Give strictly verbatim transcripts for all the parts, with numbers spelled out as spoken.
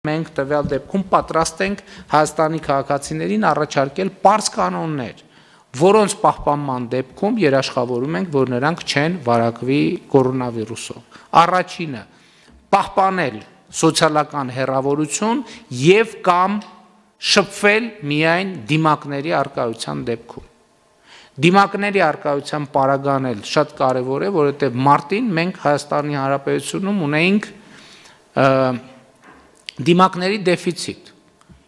Մենք տվյալ դեպքում պատրաստ ենք Հայաստանի քաղաքացիներին առաջարկել պարզ կանոններ, որոնց պահպանման դեպքում երաշխավորում ենք, որ նրանք չեն վարակվի կորոնավիրուսով։ Առաջինը՝ պահպանել սոցիալական հեռավորություն եւ կամ շփվել միայն դիմակների առկայության դեպքում։ Դիմակների առկայության պարագան էլ շատ կարևոր է, որովհետեւ մարտին մենք Հայաստանի Հանրապետությունում ունեինք դիմակների դեֆիցիտ։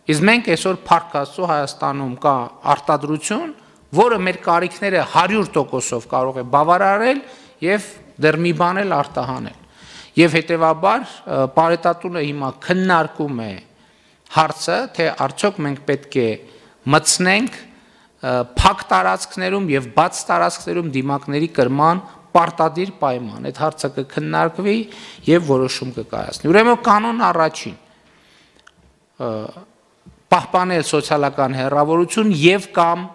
Իսկ մենք այսօր փառք Աստծո Հայաստանում կա արտադրություն, որը մեր կարիքները հարյուր տոկոսով կարող է բավարարել եւ դեռ մի բան էլ արտահանել։ Եվ հետեւաբար Պարետատունը հիմա քննարկում է հարցը, թե արդյոք մենք պետք է մտցնենք փակ տարածքներում եւ բաց տարածքներում դիմակների կրման պարտադիր պայման։ Այդ հարցը կքննարկվի եւ որոշում կկայացնի։ Ուրեմն կանոն առաջին պահպանել սոցիալական հեռավորություն եւ կամ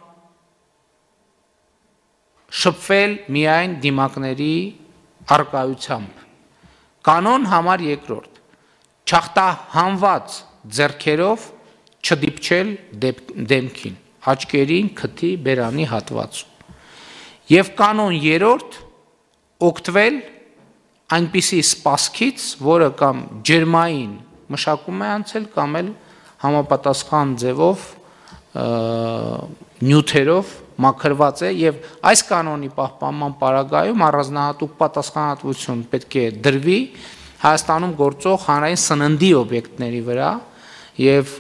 շփվել միայն դիմակների առկայությամբ։ Կանոն համար երկրորդ չախտահանված ձեռքերով չդիպչել դեմքին, աչքերին, քթի, բերանի հատվածում։ Եվ կանոն երրորդ օգտվել այնպիսի սպասքից, որը կամ ջերմային մշակում է անցել կամ էլ համապատասխան ձևով նյութերով մաքրված է եւ այս կանոնի պահպանման պարագայում առանձնահատուկ պատասխանատվություն պետք է դրվի Հայաստանում գործող հանրային սննդի օբյեկտների վրա եւ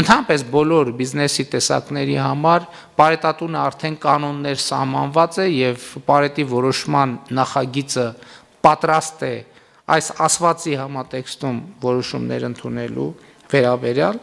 ընդհանրապես բոլոր բիզնեսի տեսակների համար Պարետատունը արդեն կանոններ սահմանված է եւ Պարետի որոշման նախագիծը պատրաստ է այս ասվածի համատեքստում որոշումներ ընդունելու վերաբերյալ